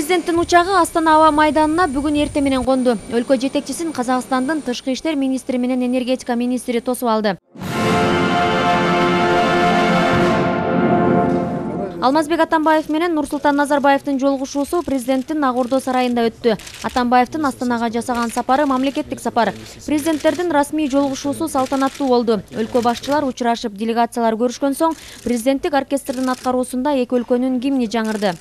Президенттин учагы Астана аба майданына бүгүн эртең менен конду. Өлкө жетекчисин Казакстандын тышкы иштер министри менен энергетика министри тосуп алды. Алмазбек Атамбаев менен Нурсултан Назарбаевдин жолугушуусу президенттин Ак Ордо сарайында өттү. Атамбаевдин Астанага жасаган сапары мамлекеттик сапар. Президенттердин расмий жолугушуусу салтанаттуу болду. Өлкө башчылар учурашып, делегациялар көрүшкөн соң президенттик оркестрдин аткаруусунда эки өлкөнүн гимни жаңырды.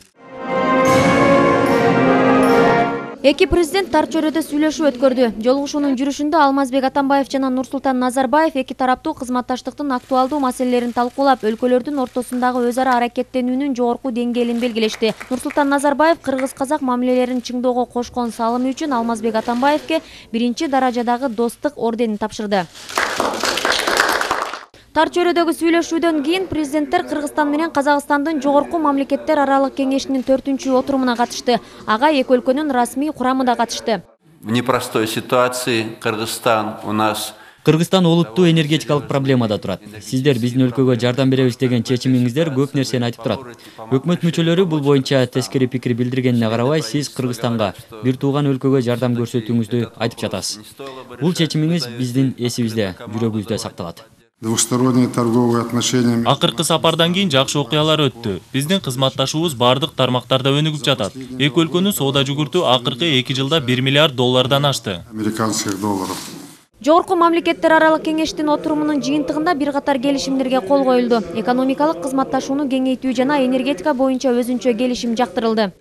Эки президент тар чөйрөдө сүйлөшүү өткөрдү. Жолугушуунун жүрүшүндө Алмазбек Атамбаев жана Нурсултан Назарбаев эки тараптуу кызматташтыктын актуалдуу маселелерин талкуулап, өлкөлөрдүн ортосундагы өз ара аракеттенүүнүн жогорку деңгээлин белгилешти. Нурсултан Назарбаев кыргыз-казак мамилелерин чыңдоого кошкон салымы үчүн Алмазбек Атамбаевке биринчи даражадагы достук орденин тапшырды. Тар чөйрөдөгү сүйлөшүүдөн кийин президенттер Кыргызстан менен Казакстандын жогорку мамлекеттер аралык кеңешинин 4-чү отурумуна катышты. Ага эки өлкөнүн расмий курамы да катышты. В непростой ситуации Кыргызстан олуттуу энергетикалык проблемада турат. Сиздер биздин өлкөгө жардам беребиз деген чечимиңиздер көп нерсени айтып турат. Өкмөт мүчөлөрү бул боюнча тескери пикир билдиргенине карабай, сиз Кыргызстанга бир тууган өлкөгө жардам көрсөтүүңүздү айтып жатасыз. Бул чечимиңиз биздин эсибизде, жүрөгүбүздө сакталат. Двусторонние торговые отношения. Акыркы сапардан кийин жакшы окуялар өттү. Биздин кызматташуубуз бардык тармактарда өнүгүп жатат. Эки өлкөнүн соода жүгүртүү акыркы 2 жылда $1 миллиард ашты. Американских долларов. Жогорку мамлекеттер аралык кеңештин отурумунун жыйынтыгында бир катар келишимдерге кол коюлду. Экономикалык кызматташууну кеңейтүү жана энергетика боюнча өзүнчө келишим жактырылды.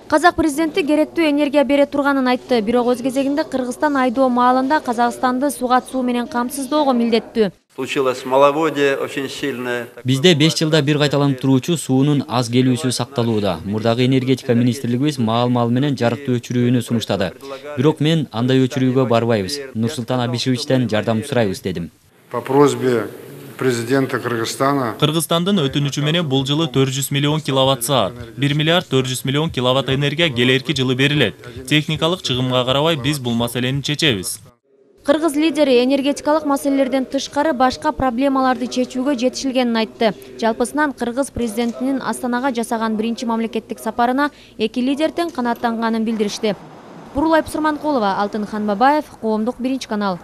Казак президенти керектүү энергия бере турганын айтты. Бирок өз кезегинде Кыргызстан айдоо маалында Казакстанды сугат суу менен камсыздоого милдеттүү. Бизде 5 жылда бир кайталанып туруучу суунун аз келүүсү сакталууда. Мурдагы энергетика министрлигибиз маал менен жарыкты өчүрүүнү сунуштады. Бирок мен андай өчүрүүгө барбайбыз. Нурсултан Абишевичтен жардам сурайбыз дедим. По просьбе президента Кыргызстана. Кыргызстандын өтүнүчү менен бул жылы 400 миллион киловатт-саат, 1 миллиард 400 миллион киловатт энергия келерки жылы берилет. Техникалык чыгымга карабай биз бул маселени чечебиз. Кыргыз лидери энергетикалык маселелерден тышкары башка проблемаларды чечүүгө жетишилгенин айтты. Жалпысынан Кыргыз президентинин Астанага жасаган биринчи мамлекеттик сапарына эки лидер тең канааттанганын билдиришти. Бурулай Пусурманкулова, Алтын Ханбабаев, Коомдук 1 канал.